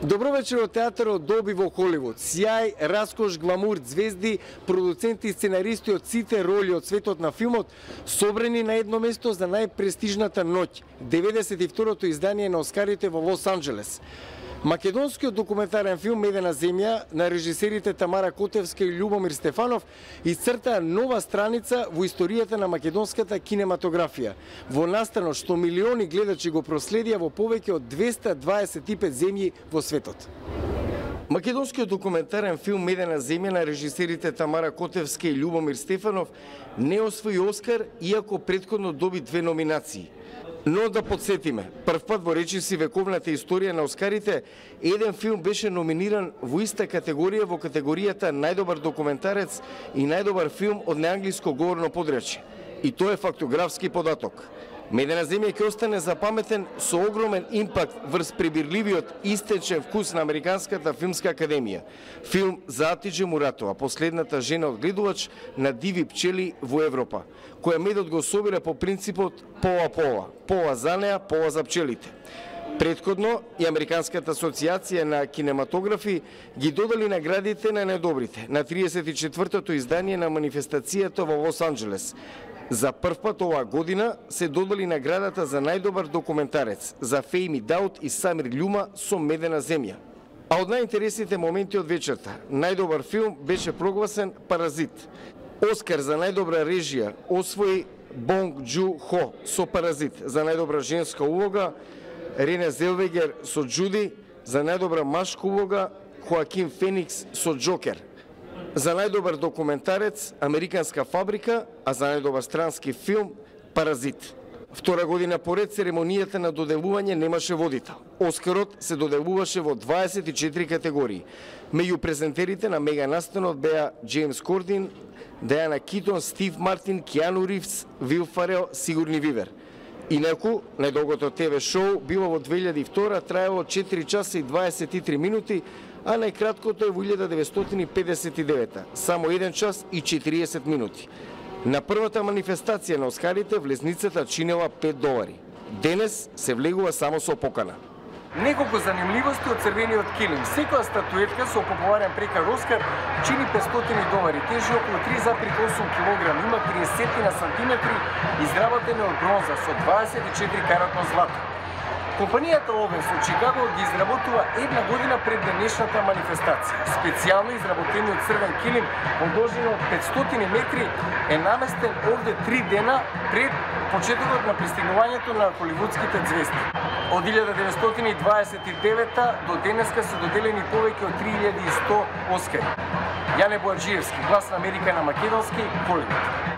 Добро вечер од театарот Долби во Холивуд. Сјај, раскош, гламур, звезди, продуценти и сценаристи од сите роли од светот на филмот собрани на едно место за најпрестижната ноќ, 92-то издание на Оскарите во Лос Анџелес. Македонскиот документарен филм Медена земја на режисерите Тамара Котевска и Љубомир Стефанов исцртаа нова страница во историјата на македонската кинематографија, во настано што милиони гледачи го проследија во повеќе од 225 земји во светот. Македонскиот документарен филм Медена земја на режисерите Тамара Котевска и Љубомир Стефанов не освои Оскар, иако претходно доби 2 номинации. Но да подсетиме, првпат во речиси вековната историја на Оскарите, еден филм беше номиниран во иста категорија, во категоријата најдобар документарец и најдобар филм од неанглиско говорно подречје. И тоа е фактографски податок. Медена земја ќе остане запаметен со огромен импакт врз пребирливиот истечен вкус на Американската филмска академија. Филм за Атидже Муратова, последната жена одгледувач на диви пчели во Европа, која медот го собира по принципот пола-пола, пола за неа, пола за пчелите. Предходно и Американската асоциација на кинематографи ги додали наградите на најдобрите на 34-тото издание на манифестацијата во Лос Анџелес. За прв пат оваа година се додали наградата за најдобар документарец за Фејми Даут и Самир Љума со Медена земја. А од најинтересните моменти од вечерта, најдобар филм беше прогласен Паразит. Оскар за најдобра режија освои Бонг Џу Хо со Паразит, за најдобра женска улога Рене Зелвегер со Џуди, за најдобра машка улога Хоакин Феникс со Џокер. За најдобар документарец Американска фабрика, а за најдобар странски филм Паразит. Втора година поред церемонијата на доделување немаше водител. Оскарот се доделуваше во 24 категории. Меѓу презентерите на мега настанот беа Джеймс Кордин, Дајана Китон, Стив Мартин, Киану Ривз, Вил Фарел, Сигурни Вивер. Инаку, најдолгото ТВ шоу било во 2002, траело 4 часа и 23 минути, а најкраткото е во 1959, само 1 час и 40 минути. На првата манифестација на Оскарите влезницата чинела $5. Денес се влегува само со покана. Неколку занимливости од црвениот килим. Секоја статуетка со популарен прекар Оскар чини $500, тежи околу 3,8 кг, има 30 сантиметри, изработена од бронза со 24 каратно злато. Компанијата Овен со Чикаго ги изработува една година пред денешната манифестација. Специјално изработениот црвен килим во должина од 500 метри е наместен овде 3 дена пред почетокот на пристигнувањето на холивудските звезди. Од 1929 до денеска се доделени повеќе од 3100 Оскари. Јане Боаџиевски, Глас на Америка на македонски, Холивуд.